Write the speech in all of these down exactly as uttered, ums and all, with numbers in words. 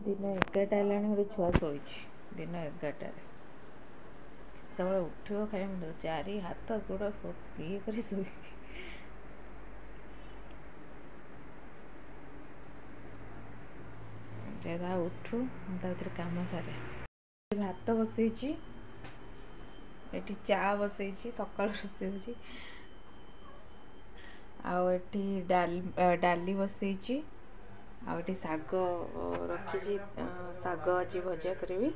ଦିନ ଏଗାରଟା ହେଲାଣି, ଗୋଟେ ଛୁଆ ଶୋଇଛି ଦିନ ଏଗାରଟାରେ। କେତେବେଳେ ଉଠିବ ଖାଲି ମୁଁ ଚାରି ହାତ ଗୋଡ଼ ଇଏ କରି ଶୋଇଛି। ଉଠୁ, ମୁଁ ତା ଭିତରେ କାମ ସାରେ। ଭାତ ବସେଇଛି, ଏଠି ଚା ବସେଇଛି, ସକାଳୁ ରୋଷେଇ ହେଉଛି। ଆଉ ଏଠି ଡାଲି ଡାଲି ବସେଇଛି, ଆଉ ଏଠି ଶାଗ ରଖିଛି। ଶାଗ ଆଜି ଭଜା କରିବି।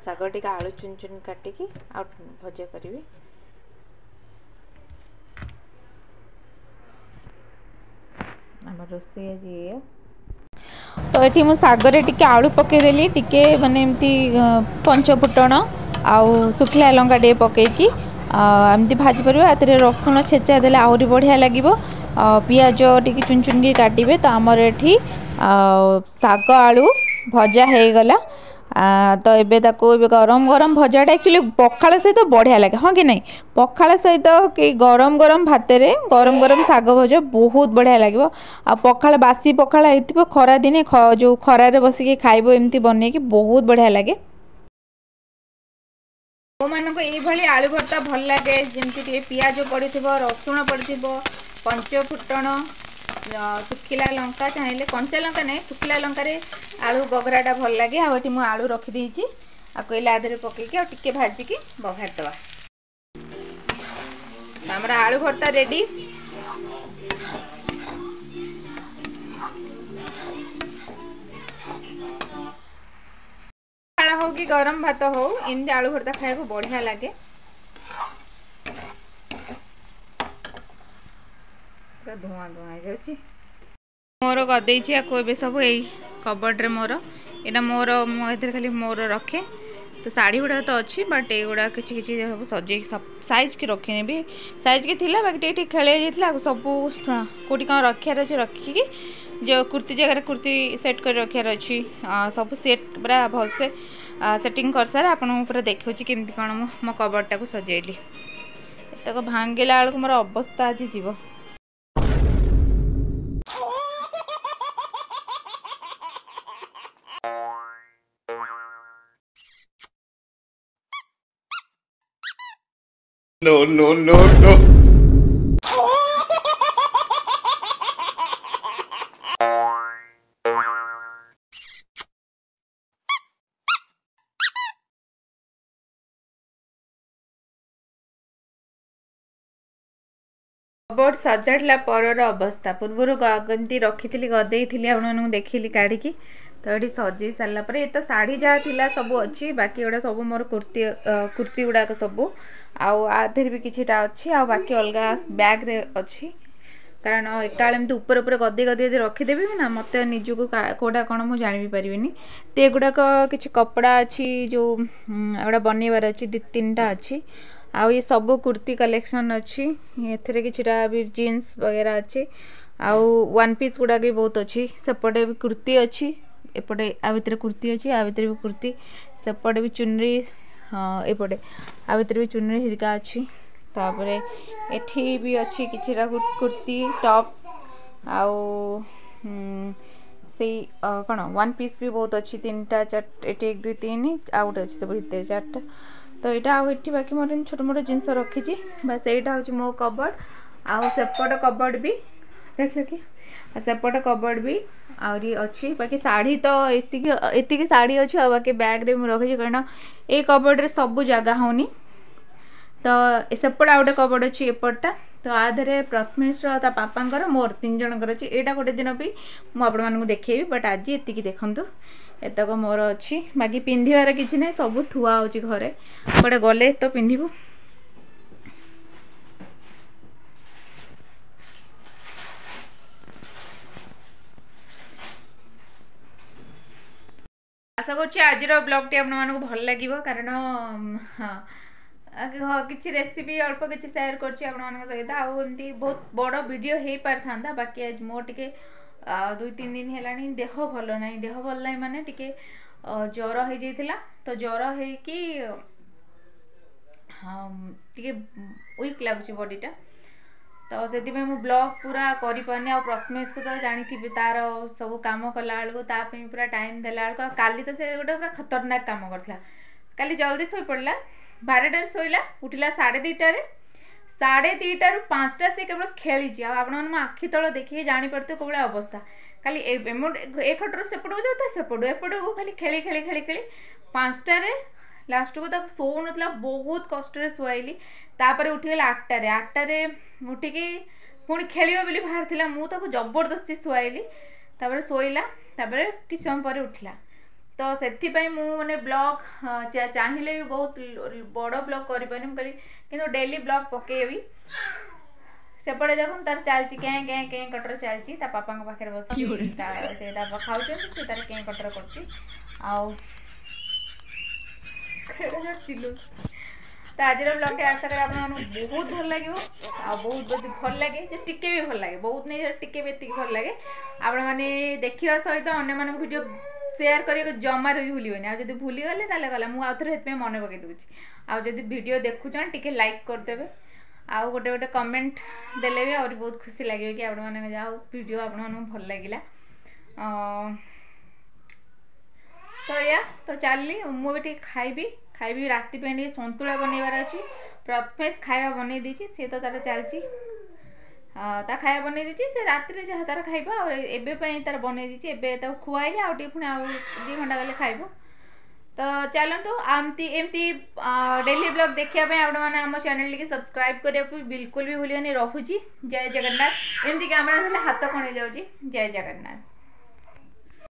ଶାଗ ଟିକେ ଆଳୁ ଚୁନ ଚୁନ କାଟିକି ଆଉ ଭଜା କରିବି। ଆମ ରୋଷେଇ ଆଜି ଏଇଆ। ତ ଏଠି ମୁଁ ଶାଗରେ ଟିକେ ଆଳୁ ପକାଇଦେଲି, ଟିକେ ମାନେ ଏମିତି ପଞ୍ଚ ଫୁଟଣ ଆଉ ଶୁଖିଲା ଲଙ୍କା ଟିକେ ପକାଇକି ଏମିତି ଭାଜି ପାରିବେ। ଏଥିରେ ରସୁଣ ଛେଚା ଦେଲେ ଆହୁରି ବଢ଼ିଆ ଲାଗିବ। ପିଆଜ ଟିକେ ଚୁନ ଚୁନକି କାଟିବେ। ତ ଆମର ଏଠି ଶାଗ ଆଳୁ ଭଜା ହେଇଗଲା। ତ ଏବେ ତାକୁ ଏବେ ଗରମ ଗରମ ଭଜାଟା ଆକ୍ଚୁଆଲି ପଖାଳ ସହିତ ବଢ଼ିଆ ଲାଗେ, ହଁ କି ନାହିଁ? ପଖାଳ ସହିତ କି ଗରମ ଗରମ ଭାତରେ ଗରମ ଗରମ ଶାଗ ଭଜା ବହୁତ ବଢ଼ିଆ ଲାଗିବ। ଆଉ ପଖାଳ, ବାସି ପଖାଳ ହେଇଥିବ ଖରାଦିନେ, ଯେଉଁ ଖରାରେ ବସିକି ଖାଇବ ଏମିତି ବନେଇକି, ବହୁତ ବଢ଼ିଆ ଲାଗେ। ପୁଅମାନଙ୍କୁ ଏଇଭଳି ଆଳୁ ଭର୍ତ୍ତା ଭଲ ଲାଗେ, ଯେମିତି ଟିକେ ପିଆଜ ପଡ଼ିଥିବ, ରସୁଣ ପଡ଼ିଥିବ, ପଞ୍ଚ ଫୁଟଣ, ଶୁଖିଲା ଲଙ୍କା, ଚାହିଁଲେ କଞ୍ଚା ଲଙ୍କା ନାହିଁ, ଶୁଖିଲା ଲଙ୍କାରେ ଆଳୁ ବଘରାଟା ଭଲ ଲାଗେ। ଆଉ ଏଠି ମୁଁ ଆଳୁ ରଖିଦେଇଛି, ଆଉ କହିଲେ ଆଦେହରେ ପକେଇକି ଆଉ ଟିକେ ଭାଜିକି ବଘାରିଦେବା। ଆମର ଆଳୁ ଭର୍ତ୍ତା ରେଡ଼ି। ପଖାଳ ହଉ କି ଗରମ ଭାତ ହଉ, ଏମିତି ଆଳୁ ଭର୍ତ୍ତା ଖାଇବାକୁ ବଢ଼ିଆ ଲାଗେ। ପୁରା ଧୂଆଁ ଧୂଆଁ ହେଇଯାଉଛି। ମୋର ଗଦେଇଛି ଆକୁ ଏବେ ସବୁ ଏଇ କବର୍ଡ଼ରେ। ମୋର ଏଇଟା ମୋର, ମୁଁ ଏଥିରେ ଖାଲି ମୋର ରଖେ। ତ ଶାଢ଼ୀ ଗୁଡ଼ାକ ତ ଅଛି, ବଟ୍ ଏଇଗୁଡ଼ା କିଛି କିଛି ସବୁ ସଜେଇକି ସାଇଜ୍କି ରଖିନେବି। ସାଇଜ୍କି ଥିଲା, ବାକି ଟିକେ ଟିକେ ଖେଳେଇ ଯାଇଥିଲା। ଆଉ ସବୁ କେଉଁଠି କ'ଣ ରଖିବାର ଅଛି ରଖିକି, ଯେଉଁ କୁର୍ତ୍ତୀ ଜାଗାରେ କୁର୍ତ୍ତୀ ସେଟ୍ କରି ରଖିବାର ଅଛି, ସବୁ ସେଟ୍ ପୁରା ଭଲସେ ସେଟିଂ କରିସାରେ ଆପଣଙ୍କୁ ପୁରା ଦେଖାଉଛି କେମିତି କ'ଣ ମୁଁ ମୋ କବର୍ଡ଼ଟାକୁ ସଜେଇଲି। ଏତକ ଭାଙ୍ଗିଲା ବେଳକୁ ମୋର ଅବସ୍ଥା ଆଜି ଯିବ। No, no, no, no. Cupboard ସଜାଡ଼ିଲା ପରର ଅବସ୍ଥା। ପୂର୍ବରୁ କେମିତି ରଖିଥିଲି, ଗଦେଇଥିଲି, ଆପଣମାନଙ୍କୁ ଦେଖିଲି କାଢ଼ିକି। ତ ଏଠି ସଜେଇ ସାରିଲା ପରେ ଏ ତ ଶାଢ଼ୀ ଯାହା ଥିଲା ସବୁ ଅଛି, ବାକି ଏଗୁଡ଼ା ସବୁ ମୋର କୁର୍ତ୍ତୀ, କୁର୍ତ୍ତୀ ଗୁଡ଼ାକ ସବୁ। ଆଉ ଆ ଦେହରେ ବି କିଛିଟା ଅଛି, ଆଉ ବାକି ଅଲଗା ବ୍ୟାଗ୍ରେ ଅଛି। କାରଣ ଏକାବେଳେ ଏମିତି ଉପରେ ଉପରେ ଗଦେଇ ଗଦେଇ ଯଦି ରଖିଦେବି ନା, ମୋତେ ନିଜକୁ କେଉଁଟା କ'ଣ ମୁଁ ଜାଣି ବି ପାରିବିନି। ତ ଏଗୁଡ଼ାକ କିଛି କପଡ଼ା ଅଛି, ଯେଉଁ ଏଗୁଡ଼ା ବନେଇବାର ଅଛି, ଦୁଇ ତିନିଟା ଅଛି। ଆଉ ଏ ସବୁ କୁର୍ତ୍ତୀ କଲେକ୍ସନ୍ ଅଛି। ଏଥିରେ କିଛିଟା ବି ଜିନ୍ସ ବଗେରା ଅଛି, ଆଉ ୱାନ୍ ପିସ୍ ଗୁଡ଼ାକ ବି ବହୁତ ଅଛି। ସେପଟେ ବି କୁର୍ତ୍ତୀ ଅଛି, ଏପଟେ ଆ ଭିତରେ କୁର୍ତ୍ତୀ ଅଛି, ଆ ଭିତରେ ବି କୁର୍ତ୍ତୀ, ସେପଟେ ବି ଚୁନରି, ହଁ, ଏପଟେ ଆ ଭିତରେ ବି ଚୁନରି ହେରିକା ଅଛି। ତାପରେ ଏଠି ବି ଅଛି କିଛିଟା କୁର୍ତ୍ତୀ, ଟପ୍ସ, ଆଉ ସେଇ କ'ଣ ୱାନ୍ ପିସ୍ ବି ବହୁତ ଅଛି। ତିନିଟା ଚାରିଟା ଏଠି, ଏକ ଦୁଇ ତିନି, ଆଉ ଗୋଟେ ଅଛି ସବୁ ଭିତରେ ଚାରିଟା। ତ ଏଇଟା ଆଉ ଏଠି ବାକି ମୋର ଛୋଟ ମୋଟ ଜିନିଷ ରଖିଛି। ବାସ୍, ଏଇଟା ହେଉଛି ମୋ କବର୍ଡ଼। ଆଉ ସେପଟ କବର୍ଡ଼ ବି ଦେଖିଲ କି? ଆଉ ସେପଟ କବର୍ଡ଼ ବି ଆହୁରି ଅଛି। ବାକି ଶାଢ଼ୀ ତ ଏତିକି ଏତିକି ଶାଢ଼ୀ ଅଛି, ଆଉ ବାକି ବ୍ୟାଗ୍ରେ ମୁଁ ରଖିଛି, କାରଣ ଏଇ କବର୍ଡ଼ରେ ସବୁ ଜାଗା ହେଉନି। ତ ସେପଟେ ଆଉ ଗୋଟେ କବର୍ଡ଼ ଅଛି ଏପଟଟା। ତ ଆ ଦେହରେ ପ୍ରଥମେଶର, ତା ବାପାଙ୍କର, ମୋର ତିନି ଜଣଙ୍କର ଅଛି। ଏଇଟା ଗୋଟେ ଦିନ ବି ମୁଁ ଆପଣମାନଙ୍କୁ ଦେଖେଇବି, ବଟ୍ ଆଜି ଏତିକି ଦେଖନ୍ତୁ। ଏତକ ମୋର ଅଛି, ବାକି ପିନ୍ଧିବାର କିଛି ନାହିଁ, ସବୁ ଥୁଆ ହେଉଛି ଘରେ। କୁଆଡ଼େ ଗଲେ ତ ପିନ୍ଧିବୁ। ଆଶା କରୁଛି ଆଜିର ବ୍ଲଗ୍ଟି ଆପଣମାନଙ୍କୁ ଭଲ ଲାଗିବ, କାରଣ ହଁ, କିଛି ରେସିପି ଅଳ୍ପ କିଛି ସେୟାର କରୁଛି ଆପଣମାନଙ୍କ ସହିତ। ଆଉ ଏମିତି ବହୁତ ବଡ଼ ଭିଡ଼ିଓ ହେଇପାରିଥାନ୍ତା, ବାକି ଆଜି ମୋର ଟିକେ ଦୁଇ ତିନି ଦିନ ହେଲାଣି ଦେହ ଭଲ ନାହିଁ। ଦେହ ଭଲ ନାହିଁ ମାନେ ଟିକେ ଜ୍ୱର ହେଇଯାଇଥିଲା। ତ ଜ୍ୱର ହେଇକି ଟିକେ ୱିକ୍ ଲାଗୁଛି ବଡ଼ିଟା। ତ ସେଥିପାଇଁ ମୁଁ ବ୍ଲଗ୍ ପୁରା କରିପାରୁନି। ଆଉ ପ୍ରଥମେଶକୁ ତ ଜାଣିଥିବେ, ତାର ସବୁ କାମ କଲା ବେଳକୁ, ତା ପାଇଁ ପୁରା ଟାଇମ୍ ଦେଲା ବେଳକୁ, ଆଉ କାଲି ତ ସେ ଗୋଟେ ପୁରା ଖତରନାକ କାମ କରିଥିଲା। କାଲି ଜଲ୍ଦି ଶୋଇପଡ଼ିଲା, ବାରଟାରେ ଶୋଇଲା, ଉଠିଲା ସାଢ଼େ ଦୁଇଟାରେ। ସାଢ଼େ ଦୁଇଟାରୁ ପାଞ୍ଚଟା ସେ କେବଳ ଖେଳିଛି। ଆଉ ଆପଣମାନେ ମୋ ଆଖି ତଳ ଦେଖିକି ଜାଣିପାରୁଥିବେ କୋଉ ଭଳିଆ ଅବସ୍ଥା। ଖାଲି ଏ ଖଟରୁ ସେପଟକୁ ଯାଉଥାଏ, ସେପଟୁ ଏପଟକୁ, ଖାଲି ଖେଳି ଖେଳି ଖେଳି ଖେଳି ପାଞ୍ଚଟାରେ ଲାଷ୍ଟକୁ ତାକୁ ଶୋଉନଥିଲା, ବହୁତ କଷ୍ଟରେ ଶୁଆଇଲି। ତାପରେ ଉଠିଗଲା ଆଠଟାରେ। ଆଠଟାରେ ଉଠିକି ପୁଣି ଖେଳିବ ବୋଲି ବାହାରିଥିଲା, ମୁଁ ତାକୁ ଜବରଦସ୍ତି ଶୁଆଇଲି, ତାପରେ ଶୋଇଲା, ତାପରେ କିଛି ସମୟ ପରେ ଉଠିଲା। ତ ସେଥିପାଇଁ ମୁଁ ମାନେ ବ୍ଲଗ୍ ଚାହିଁଲେ ବି ବହୁତ ବଡ଼ ବ୍ଲଗ୍ କରିପାରୁନି। ମୁଁ କହିଲି କିନ୍ତୁ ଡେଲି ବ୍ଲଗ୍ ପକେଇବି। ସେପଟେ ଦେଖନ୍ତୁ, ତାର ଚାଲିଛି କେଁ କେଁ କେଁ କଟର ଚାଲିଛି। ତା ପାପାଙ୍କ ପାଖରେ ବସିକି ସେ ତା ଖାଉଛନ୍ତି, ସେ ତାର କେଁ କଟର କରୁଛି ଆଉ ଚିଲଉଛି। ତ ଆଜିର ବ୍ଲଗ୍ଟି ଆଶା କରେ ଆପଣମାନଙ୍କୁ ବହୁତ ଭଲ ଲାଗିବ। ଆଉ ବହୁତ ଯଦି ଭଲ ଲାଗେ, ଯେ ଟିକେ ବି ଭଲ ଲାଗେ, ବହୁତ ନେଇ ଟିକେ ବି ଏତିକି ଭଲ ଲାଗେ, ଆପଣମାନେ ଦେଖିବା ସହିତ ଅନ୍ୟମାନଙ୍କୁ ଭିଡ଼ିଓ ସେୟାର କରିବାକୁ ଜମାରୁ ବି ଭୁଲିବେନି। ଆଉ ଯଦି ଭୁଲିଗଲେ ତାହେଲେ ଗଲା, ମୁଁ ଆଉ ଥରେ ସେଥିପାଇଁ ମନେ ପକାଇ ଦେଉଛି। ଆଉ ଯଦି ଭିଡ଼ିଓ ଦେଖୁଛନ୍ତି, ଟିକେ ଲାଇକ୍ କରିଦେବେ ଆଉ ଗୋଟେ ଗୋଟେ କମେଣ୍ଟ ଦେଲେ ବି ଆହୁରି ବହୁତ ଖୁସି ଲାଗିବ କି ଆପଣମାନଙ୍କ ଯାହା ହଉ ଭିଡ଼ିଓ ଆପଣମାନଙ୍କୁ ଭଲ ଲାଗିଲା। ତ ଏଇଆ ତ ଚାଲିଲି, ମୁଁ ଏବେ ଟିକେ ଖାଇବି ଖାଇବି ରାତି ପାଇଁ ଟିକେ ସନ୍ତୁଳା ବନେଇବାର ଅଛି। ପ୍ରଥମେଶ ଖାଇବା ବନେଇ ଦେଇଛି, ସିଏ ତ ତାର ଚାଲିଛି, ତା ଖାଇବା ବନେଇ ଦେଇଛି। ସେ ରାତିରେ ଯାହା ତାର ଖାଇବ, ଆଉ ଏବେ ପାଇଁ ତାର ବନେଇ ଦେଇଛି। ଏବେ ତାକୁ ଖୁଆଇଲେ ଆଉ ଟିକେ ପୁଣି ଆଉ ଦୁଇ ଘଣ୍ଟା ଗଲେ ଖାଇବ। ତ ଚାଲନ୍ତୁ, ଏମିତି ଏମିତି ଡେଲି ବ୍ଲଗ୍ ଦେଖିବା ପାଇଁ ଆପଣମାନେ ଆମ ଚ୍ୟାନେଲଟିକି ସବସ୍କ୍ରାଇବ୍ କରିବାକୁ ବିଲକୁଲ ବି ଭୁଲିବେନି। ରହୁଛି, ଜୟ ଜଗନ୍ନାଥ। ଏମିତି କ୍ୟାମେରା ଧରିଲେ ହାତ କଣ ହେଇଯାଉଛି। ଜୟ ଜଗନ୍ନାଥ।